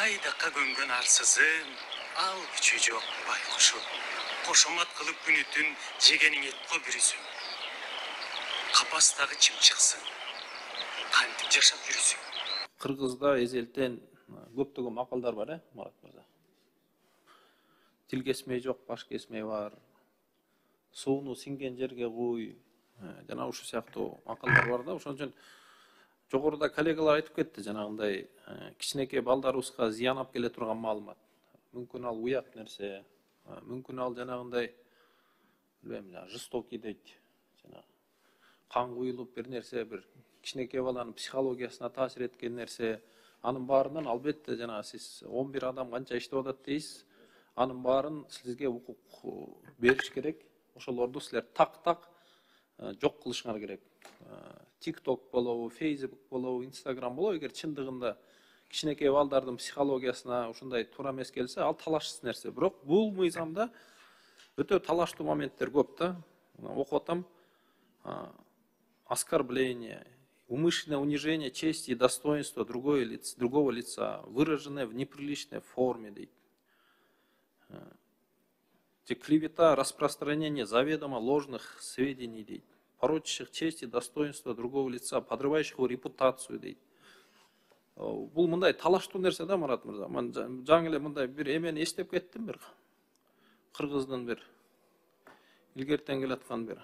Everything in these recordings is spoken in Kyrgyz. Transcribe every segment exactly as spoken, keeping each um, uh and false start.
Айдакка көнгөн арсызым, ал күчү жок байкушу. Кошомат кылып күнүтүн жегениң этко бүрүсүң. Капастагы чымчыксың, кантип жашап жүрүсүң? Кыргызда эзелтен көптөгөн макалдар бар, э, Марат мырза. Тил кесмей жок, баш кесмей бар. Сууну сиңген жерге куй. Жана ушул сыяктуу макалдар бар да. Ошон үчүн жогоруда коллегалар айтып кетти, жанагындай кичинекей балдарыбызга зыян алып келе турган маалымат. Мүмкүн ал уят нерсе, мүмкүн ал жанагындай билбейм, жестокий дейт. Жана кан куюлуп бир нерсе, бир кичинекей баланын психологиясына таасир эткен нерсе. Анын баарынан албетте жана сиз он бир адам канча иштеп атат дейсиз. Анын баарын сизге укук бериш керек. Ошолорду силер так-так жок кылышыңар керек. TikTok болобу, Facebook болобу, Instagram болобу, эгер чындыгында кичинекей балдардын психологиясына ушундай туура эмес келсе, ал талашсыз нерсе. Бирок бул мыйзамда өтө талаштуу моменттер көп да. Окуп атам. Оскорбление, умышленное унижение чести и достоинства другого лица, другого лица, выраженное в неприличной форме, дейт. Клевета, распространение заведомо ложных сведений, дейт. Порочащих честь и достоинство другого лица, подрывающих его репутацию, дейт. Бул мындай талаштуу нерсе да, Марат мырза. Мен жаңы эле мындай бир эмени эстеп кеттим, бир кыргыздын бир илгертен келаткан бир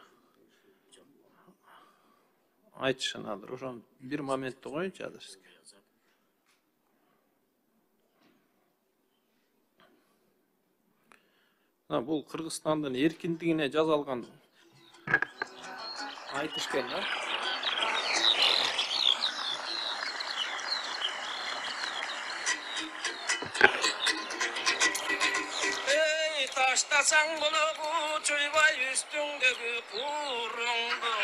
айтышын азыр. Ошон бир моментти коеюнчу азыр сизге. Бул Кыргызстандын эркиндигине жазалган айтыш экен да. Ey taştasan bologу çuybay üstündөгү курумду.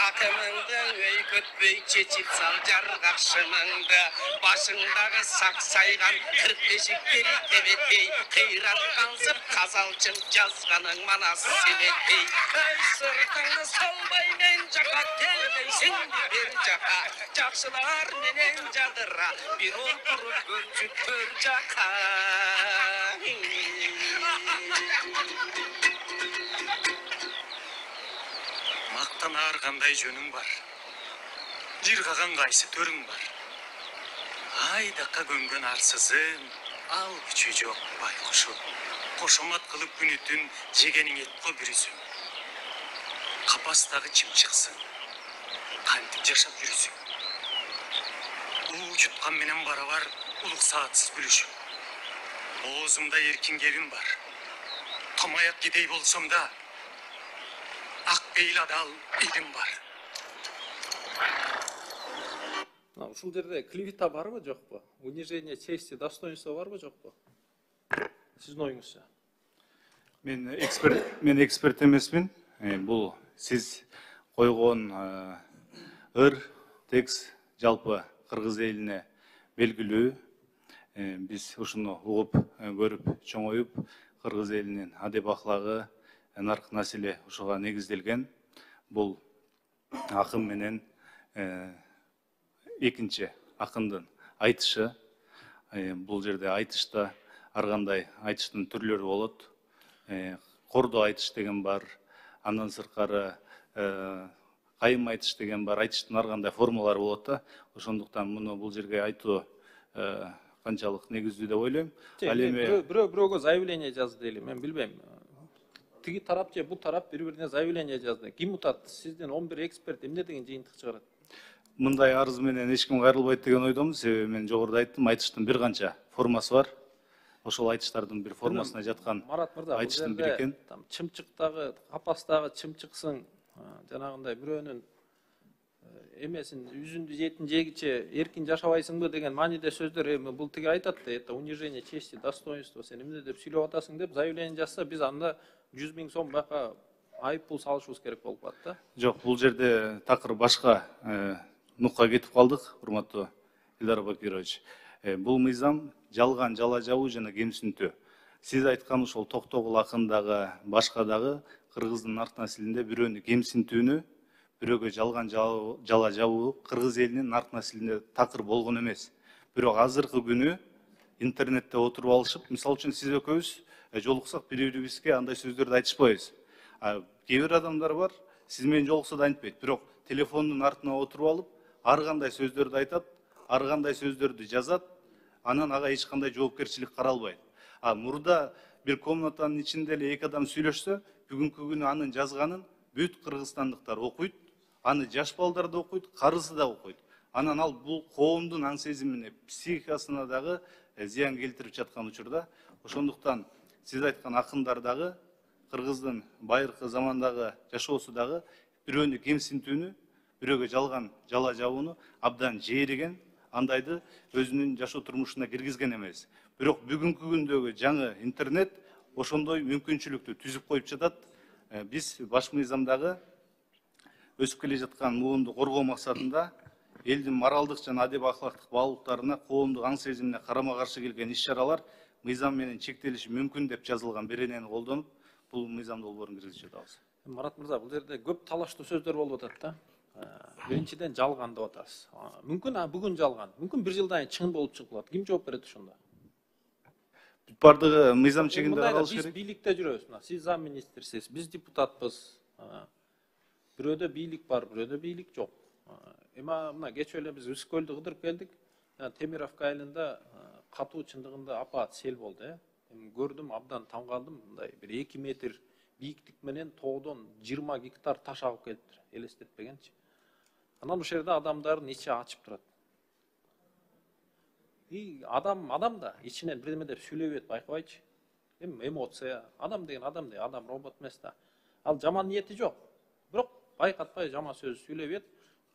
Акымыңдың өй көтпөй чечип сал жаргакшымыңды. Башыңдагы саксайган кырк бешиктери тебетей. Кыйраткансып казалчын жазганың манас себетей. Ey сыртыңды салбай мен жака келбейсиңби бир жака. Жакшылар менен жадыра бир отуруп көрчү көр жака. Мактанаар кандай жөнүң бар? Жыргаган кайсы төрүң бар? Айдакка көнгөн арсызым, ал күчү жок байкушу. Кошомат кылып күнүтүн жегениң этко бүрүсүң. Капастагы чымчыксың, кантип жашап жүрүсүң? Уу жуткан менен барабар улук саатсыз күлүшүң. Оозумда эркин кебим бар. Томаяк кедей болсом да, ак бейил адал илим бар. Ушул жерде клевета барбы, жокпу? Унижение чести, достоинства барбы, жокпу? Сиздин оюңузча. Мен эксперт, мен эксперт эмесмин. Бул сиз койгон ыр, текст жалпы кыргыз элине белгилүү. Биз ушуну угуп, көрүп, чоңоюп, кыргыз элинин адеп аклагы, нарк населе ушуга негизделген. Бул акын менен экинчи акындын айтышы. Бул жерде айтышта ар кандай айтыштын түрлөрү болот. Кордо айтыш деген бар, андан сырткары кайым айтыш деген бар. Айтыштын ар кандай формалары болот да. Ошондуктан муну бул жерге айтуу канчалык негиздүү деп ойлойм. Ал эми бирөө бирөөгө заявление жазды дейли, мен билбейм. Тиги тарап же бул тарап бири-бирине заявление жазды. Ким утат? Сизден он бир эксперт эмне деген жыйынтык чыгарат? Мындай арыз менен эч ким кайрылбайт деген ойдомун. Себеби мен жогоруда айттым, айтыштын бир канча формасы бар. Ошол айтыштардын бир формасына жаткан айтыштын бири экен. Чымчыктагы, капастагы чымчыксың, жанагындай бирөөнүн эмесин жүзүндү жейтин жегиче эркин жашабайсыңбы деген мааниде сөздөр. Эми бул тиги айтат да, это унижение чести, достоинства, сен эмне деп сүйлөп атасың деп заявление жазса, биз анда жүз миң сом бака айып пул салышыбыз керек болуп калат да. Жок, бул жерде такыр башка нукка кетип калдык, урматтуу Илдар Бакирович. Бул мыйзам жалган жала жабуу жана кемсинтүү. Сиз айткан ошол Токтогул акындагы, башка дагы кыргыздын нарк населинде бирөөнү кемсинтүүнү, бирөөгө жалган жала жабуу кыргыз элинин нарк населинде такыр болгон эмес. Бирок азыркы күнү интернетте отуруп алышып, мисалы үчүн сиз экөөбүз жолуксак бири бирибизге андай сөздөрдү айтышпайбыз. Кээ бир адамдар бар, сиз менен жолукса да айтпайт, бирок телефондун артына отуруп алып, ар кандай сөздөрдү айтат, ар кандай сөздөрдү жазат, анан ага эч кандай жоопкерчилик каралбайт. А мурда бир комнатанын ичинде эле эки адам сүйлөшсө, бүгүнкү күнү анын жазганын бүт кыргызстандыктар окуйт, аны жаш балдар да окуйт, карысы да окуйт. Анан ал бул коомдун аң сезимине, психикасына дагы зыян келтирип жаткан учурда. Ошондуктан сиз айткан акындар дагы, кыргыздын байыркы замандагы жашоосу дагы бирөөнү кемсинтүүнү, бирөөгө жалган жала жабууну абдан жээриген, андайды өзүнүн жашоо турмушуна киргизген эмес. Бирок бүгүнкү күндөгү жаңы интернет ошондой мүмкүнчүлүктү түзүп коюп жатат. Биз баш мыйзамдагы өсүп келе жаткан муунду коргоо максатында элдин моралдык жана адеп ахлактык баалуулуктарына, коомдук аң сезимине карама каршы келген иш-чаралар мыйзам менен чектелиши мүмкүн деп жазылган беренени колдонуп, бул мыйзам долбоорун киргизип жатабыз. Марат мырза, бул жерде көп талаштуу сөздөр болуп атат да. Биринчиден жалган деп атасыз. Мүмкүн бүгүн жалган, мүмкүн бир жылдан кийин чын болуп чыгып калат. Ким жооп берет ошондо? Бардыгы мыйзам чегинде каралыш керек. Биз бийликте жүрөбүз. Мына сиз зам министрсиз, биз депутатпыз. Бирөөдө бийлик бар, бирөөдө бийлик жок. Эми мына кечээ эле биз Үскөлдү кыдырып келдик. Темировка айылында катуу чындыгында апаат сел болду, э. Эми көрдүм, абдан таң калдым. Мындай бир эки метр бийиктик менен тоодон жыйырма гектар таш агып келиптир. Элестетпегенчи. Анан ошол жерде адамдардын ичи ачып турат. И адам адам да ичинен бирдеме деп сүйлөй берет, байкабайчы. Эми эмоция, адам деген адам да, адам робот эмес да. Ал жаман ниети жок. Бирок байкатпай жаман сөз сүйлөй берет.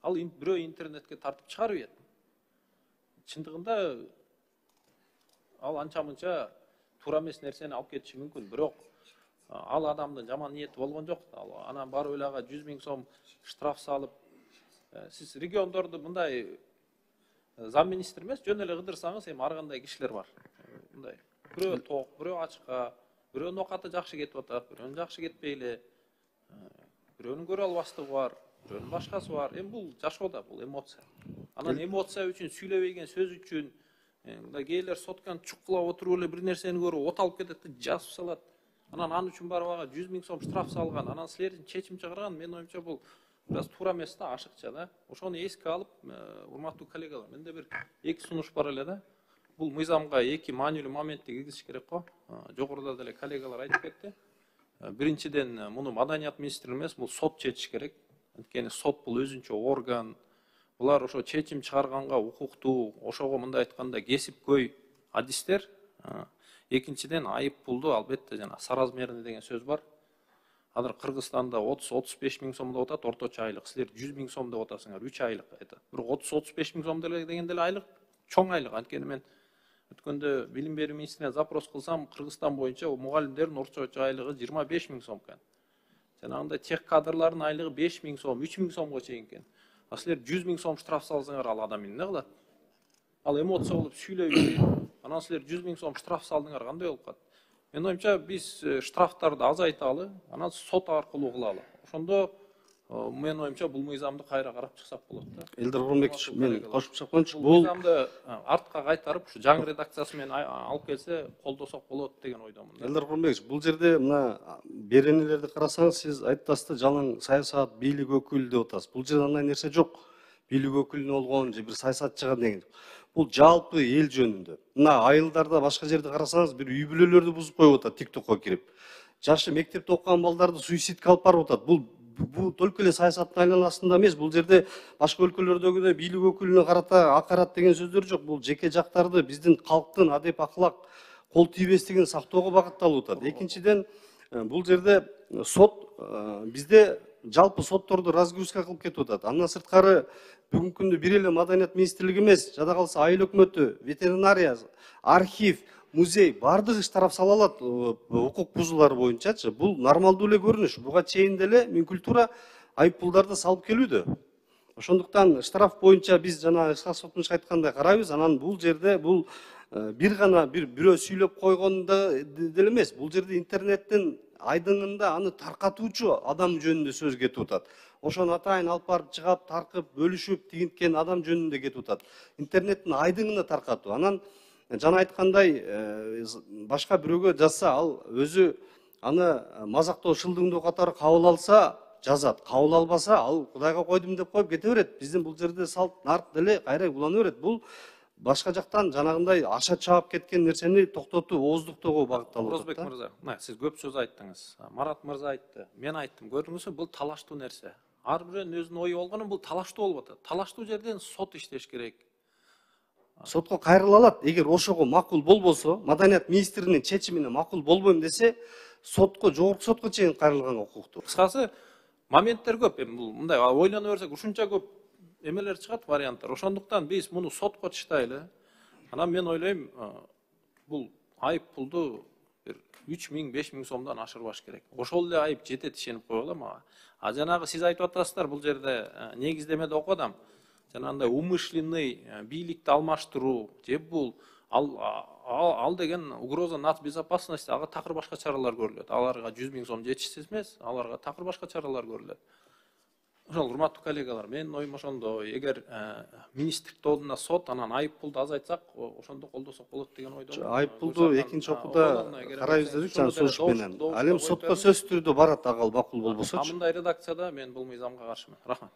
Ал бирөө интернетке тартып чыгарып берет. Чындыгында ал анча-мынча туура эмес нерсени алып кетиши мүмкүн, бирок ал адамдын жаман ниети болгон жок. Анан барып эле ага жүз миң сом штраф салып, сиз региондорду мындай зам министр эмес, жөн эле кыдырсаңыз, эми ар кандай кишилер бар. Мындай бирөө ток, бирөө ачка, бирөөнүн оокаты жакшы кетип атат, бирөөнүн жакшы кетпей эле, бирөөнүн көрө албастыгы бар, бирөөнүн башкасы бар. Эми бул жашоодо бул эмоция. Анан эмоция үчүн сүйлөбөгөн сөз үчүн мындай кээрлер сотканы чукулап отуруп эле бир нерсени көрүп от алып кетет, жазып салат. Анан ал үчүн барып ага жүз миң сом штраф салган. Анан силердин чечим чыгарган, менин оюмча бул бираз туура эмес да, ашыкча да. Ошону эске алып, урматтуу коллегалар, менде бир эки сунуш бар эле да. Бул мыйзамга эки маанилүү моментти киргизиш керек го. Жогоруда деле коллегалар айтып кетти. Биринчиден, муну маданият министри эмес, бул сот чечиш керек. Анткени сот бул өзүнчө орган. Булар ошо чечим чыгарганга укуктуу, ошого мындай айтканда кесипкөй адистер. Экинчиден, айып пулду албетте жана соразмерный деген сөз бар. Азыр Кыргызстанда отуз отуз беш миң сом деп атат орточо айлык. Силер жүз миң сом деп атасыңар, үч айлык айтат. Бирок отуз отуз беш миң сом деген деле айлык чоң айлык. Анткени мен өткөндө билим берүү министрине запрос кылсам, Кыргызстан боюнча мугалимдердин орточо айлыгы жыйырма беш миң сом экен. Жанагындай тех кадрлардын айлыгы беш миң сом, үч миң сомго чейин экен. А силер жүз миң сом штраф салсаңар, ал адам эмне кылат? Ал эмоция болуп сүйлөй берет. Анан силер жүз миң сом штраф салдыңар, кандай болуп калат? Менин оюмча биз штрафтарды азайталы, анан сот аркылуу кылалы. Ошондо менин оюмча бул мыйзамды кайра карап чыксак болот да. Элдер Курманбекович, мен кошумча койчу, бул мыйзамды артка кайтарып, ушу жаңы редакциясы менен алып келсе, колдосок болот деген ойдомун. Элдер Курманбекович, бул жерде мына беренелерди карасаңыз, сиз айттасыз да, жалаң саясат, бийлик өкүлү деп атасыз. Бул жерде андай нерсе жок. Бийлик өкүлүнө болгон же бир саясатчыга деген. Бул жалпы эл жөнүндө. Мына айылдарда, башка жерде карасаңыз, бир үй бүлөлөрдү бузуп коюп атат тиктокко кирип. Жашы мектепте окуган балдарды суицидке алып барып атат. Бул бул только эле саясаттын айланасында эмес, бул жерде башка өлкөлөрдөгүдөй бийлик өкүлүнө карата акарат деген сөздөр жок. Бул жеке жактарды, биздин калктын адеп аклак, кол тийбестигин сактоого багытталып атат. Экинчиден, бул жерде сот бизде жалпы сотторду разгрузка кылып кетип атат. Андан сырткары бүгүнкү күндө бир эле маданият министрлиги эмес, жада калса айыл өкмөтү, ветеринария, архив, музей бардыгы штраф сала алат укук бузуулар боюнчачы. Бул нормалдуу эле көрүнүш. Буга чейин деле мүмкүлтуура айып пулдарды салып келүүдө. Ошондуктан штраф боюнча биз жана Ысқақ Сотмуш айткандай карайбыз. Анан бул жерде бул бир гана бир бирөө сүйлөп койгондо деле эмес. Бул жерде интернеттин айдыңында аны таркатуучу адам жөнүндө сөз кетип атат. Ошону атайын алып барып чыгап, таркып, бөлүшүп, тигинткен адам жөнүндө кетип атат. Интернеттин айдыңына таркатуу. Анан жана айткандай башка бирөөгө жазса ал өзү аны мазактоо шылдыңдоо катары кабыл алса жазат, кабыл албаса ал Кудайга койдум деп коюп кете берет. Биздин бул жерде салт нарт деле кайра улана берет. Бул башка жактан жанагындай аша чаап кеткен нерсени токтотуу, ооздуктоого багытталып Орозбек мырза, мына сиз көп сөз айттыңыз. Марат мырза айтты, мен айттым. Көрдүңүзбү, бул талаштуу нерсе. Ар бирөөнүн өзүнүн ою болгону бул талаштуу болуп атат. Талаштуу жерден сот иштеш керек. Сотко кайрыла алат. Эгер ошого макул болбосо, маданият министринин чечимине макул болбойм десе, сотко, жогорку сотко чейин кайрылганга укуктуу. Кыскасы, моменттер көп. Эми бул мындай ойлоно берсек, ушунча көп эмелер чыгат, варианттар. Ошондуктан биз муну сотко таштайлы. Анан мен ойлойм, бул айып пулду бир үч миң, беш миң сомдон ашырбаш керек. Ошол эле айып жетет ишенип коелу мага. А жанагы сиз айтып атасыздар, бул жерде негиздемеде окудам. Жанагындай умышленный бийликти алмаштыруу, же бул ал ал деген угроза нацбезопасности, ага такыр башка чаралар көрүлөт. Аларга жүз миң сом жетишсиз эмес, аларга такыр башка чаралар көрүлөт. Ошол урматтуу коллегалар, менин оюм ошондой. Эгер министрлик алдында сот, анан айып пулду азайтсак, ошондо колдосок болот деген ойдомун. Айып пулду экинчи окууда карайбыз дедик, жана сунуш менен. Ал эми сотко сөзсүз түрдө барат, ага макул болбосочу. Мындай редакцияда мен бул мыйзамга каршымын. Рахмат.